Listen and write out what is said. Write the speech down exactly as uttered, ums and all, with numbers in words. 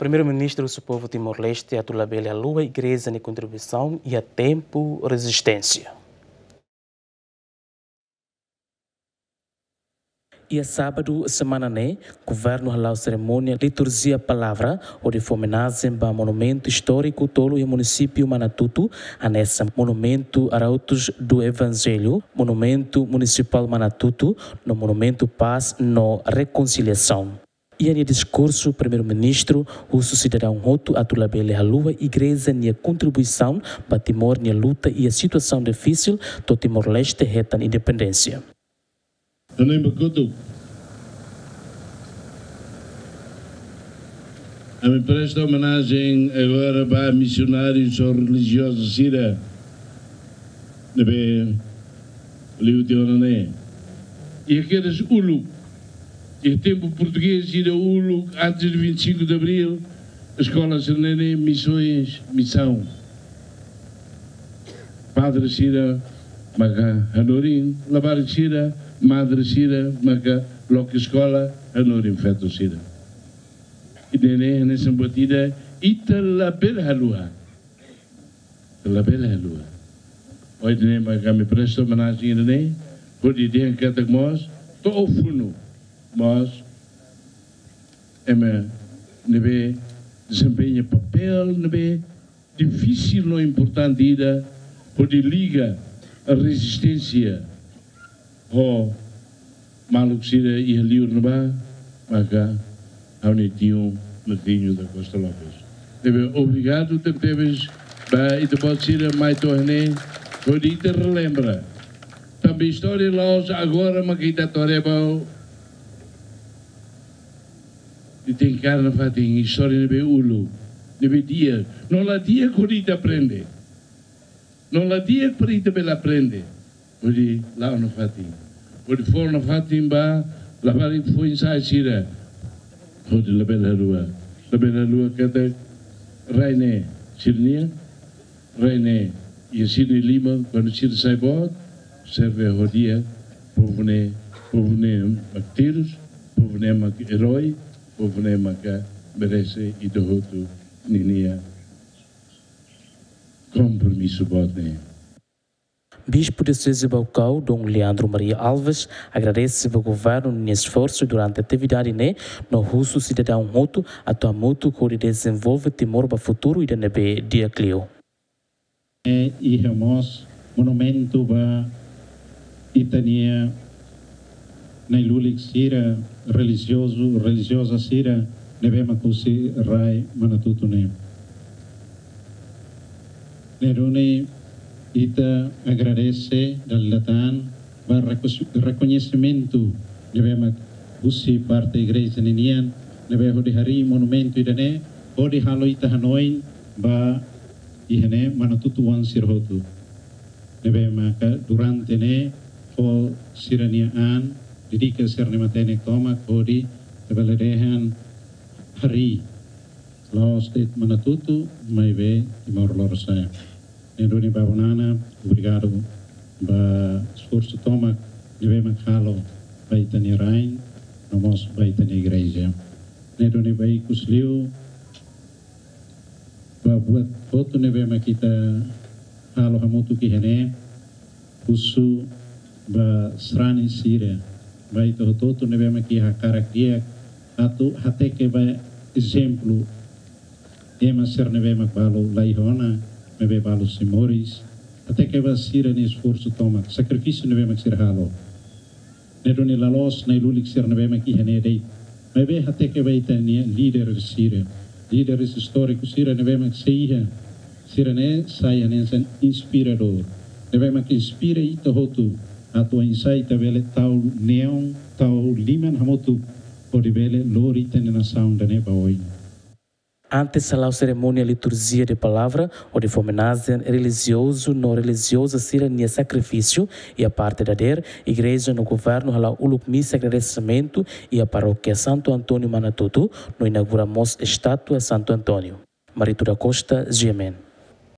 Primeiru-Ministru husu povu Timor-Leste atu labele haluha igreja nia kontribuisaun iha tempu rezisténsia. Iha sábadu semana ne'e, governu hala'o serimónia liturjia palavra, hodi fó omenajen ba monumentu istóriku tolu iha munisípiu Manatutu, hanesan Monumentu Arautos do Evangelho, Monumentu Munisipál Manatutu, no Monumentu Pás no Rekonsiliasaun. Iha nia diskursu, Primeiru-Ministru husu sidadaun hotu atu labele haluha igreja nia kontribuisaun ba Timor nia luta iha situasaun difisil to'o Timor-Leste hetan independénsia. Hanoin ba kotuk. Ami presta omenajen agora ba misionáriu no relijiozu sira ne'ebé liu tiha ona ne'e. Iha kedas uluk, iha tempu portugés sira uluk, antes de vinte e cinco de Abril, eskola sira-ne'e, missões, missão. Padre sira maka hanorin, labarik sira, madre sira maka loke eskola, hanorin feto sira. Ida-ne'e hanesan buat ida ita labele haluha. Labele haluha. Ohin ne'e maka ami presta omenajen ida-ne'e, hodi dehan katak mós, to'o funu, mós, ema ne'ebé dezempeña papél ne'ebé difisil no importante ida, hodi liga rezisténsia ho maluk sira iha liur ne'ebá, maka ha'u-nia tiu Martinho da Costa Lopes. Ne'ebé obrigadu tebetebes ba ita-boot sira mai to'o ne'e, hodi ita relembra. Tanba istória la'ós agora maka ita atu haree ba, ita enkara nafatin istória ne'ebé uluk, ne'ebé di'ak. No la di'ak hodi ita aprende. No la di'ak para ita bele aprende. Hodi la'o nafatin. Hodi fó nafatin ba labarik foin-sa'e sira. Hodi labele haluha. Labele haluha katak rai ne'e sira-nian, rai ne'e iha sira-nia liman, kuandu sira sai boot, serve ho di'ak, povu ne'e, povu ne'e mak terus, povu ne'e mak erói, povu ne'e maka merese ita hotu ninia kompromisu boot ne'e. Bispu Dioseze Baucau, Dom Leandro Maria Alves, agradese ba governu nia esforsu durante atividade ne'e, no husu sidadaun hotu atu hamutuk hodi dezenvolve Timor ba futuru ida ne'ebé di'ak liu. Ne'e iha mós monumentu ba ita-nia na'i-lulik sira, relijiozu, relijioza sira ne'ebé mak husi rai Manatutu ne'e. Ne'e duni ita agradese dala ida tan ba rekos-, rekoñesimentu ne'ebé mak husi parte igreja ninian, ne'ebé hodi harii monumentu ida-ne'e, hodi halo ita hanoin ba iha ne'e Manatutu-oan sira hotu. Ne'ebé maka durante ne'e fó sira-nia an, dedika sira-nia matenek tomak hodi ita bele dehan harii la'ós de'it Manatutu, maibé Timor Lorosa'e. Ne'e duni Babu Nana, obrigadu ba esforsu tomak ne'ebé mak halo ba ita-nia rain, no mós ba ita-nia igreja. Ne'e duni ba ikus liu, ba buat hotu ne'ebé mak ita halo hamutuk iha ne'e, husu ba sarani sira, ba ita hotu-hotu ne'ebé mak iha hakarak di'ak atu hateke ba ezemplu ema sira ne'ebé mak balu la iha ona, maibé balu sei moris, hateke ba sira-nia esforsu tomak, sakrifísiu ne'ebé mak sira halo. Ne'e duni la'ós na'i-lulik sira ne'ebé mak iha ne'e de'it. Maibé hateke ba ita-nia líderes sira. Líderes istóriku sira ne'ebé mak sei iha. Sira-ne'e sai hanesan inspiradór. Ne'ebé mak inspira ita hotu. Atu oinsá ita bele tau neon, tau liman hamutuk. Hodi bele lori ita-nia nasaun ida-ne'e ba oin. Antes hala'o serimónia liturjia de palavra, hodi fó omenajen relijiozu no relijioza sira-nia sakrifísiu, iha parte dadeer, igreja no governu hala'o uluk misa agradesimentu iha Parókia Santo António Manatutu, no inaugura mós estátua Santo António. Marito da Costa, G M N.